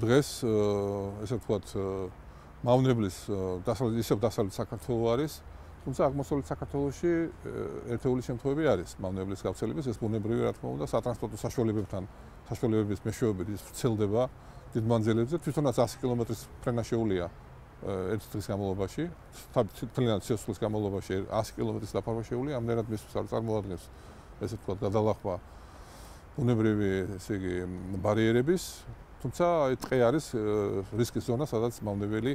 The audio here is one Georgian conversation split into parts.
დღეს ესე ვთქვათ მავნებლის დასავლეთ საქართველო არის, თუმცა აღმოსავლეთ საქართველოში ერთეული შემთხვევები არის მავნებლის გავრცელების, ეს ბუნებრივი რა თქმა უნდა სატრანსპორტო საშუალებების მეშვეობით ის ვრცელდება დიდ მანძილებზე, თვითონაც 100 კილომეტრის ფრენა შეუძლია ერთი დღის განმავლობაში, თლიანად სიახლეის განმავლობაში 100 კილომეტრის დაფარვა შეუძლია, ამდენად მისთვის არ წარმოადგენს ესე ვთქვათ გადალახვა ბუნებრივი ესე იგი ბარიერების, თუმცა ტყე არის რისკის ზონა, სადაც მავნებელი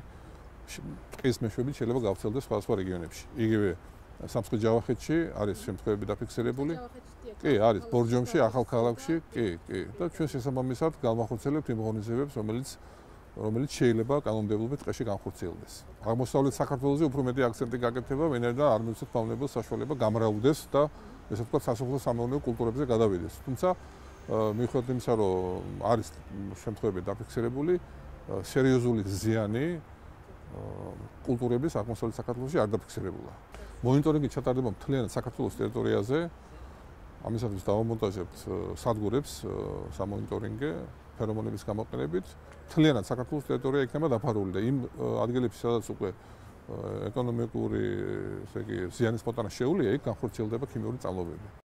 ტყის მეშვეობით შეიძლება გავრცელდეს სხვადასხვა რეგიონებში. იგივე სამცხე-ჯავახეთში არის შემთხვევები დაფიქსირებული. კი, არის ბორჯომში, ახალქალაქში, კი. და ჩვენ შესაბამისად გავახორციელებთ იმ ღონისძიებებს, რომელიც შეიძლება კანონმდებლობით ტყეში განხორციელდეს. აღმოსავლეთ საქართველოზე უფრო მეტი აქცენტი გაკეთება, ვინაიდან არ მივცეთ მავნებელს საშუალება გამრავლდეს და ესე ვთქვათ სასოფლო-სამეურნეო კულტურებზე გადავიდეს. თუმცა მიუხედავად იმისა, რომ არის შემთხვევები დაფიქსირებული, სერიოზული ზიანი კულტურების აღმოსავლეთ საქართველოში არ დაფიქსირებულა. მონიტორინგი ჩატარდება მთლიანად საქართველოს ტერიტორიაზე. ამისათვის დავამონტაჟებთ სადგურებს სამონიტორინგე ფერომონების გამოყენებით. მთლიანად საქართველოს ტერიტორია იქნება დაფარული და იმ ადგილებში, სადაც უკვე ეკონომიკური, ესე იგი, ზიანის მოტანა შეუძლია, იქ განხორციელდება ქიმიური წარმოებები.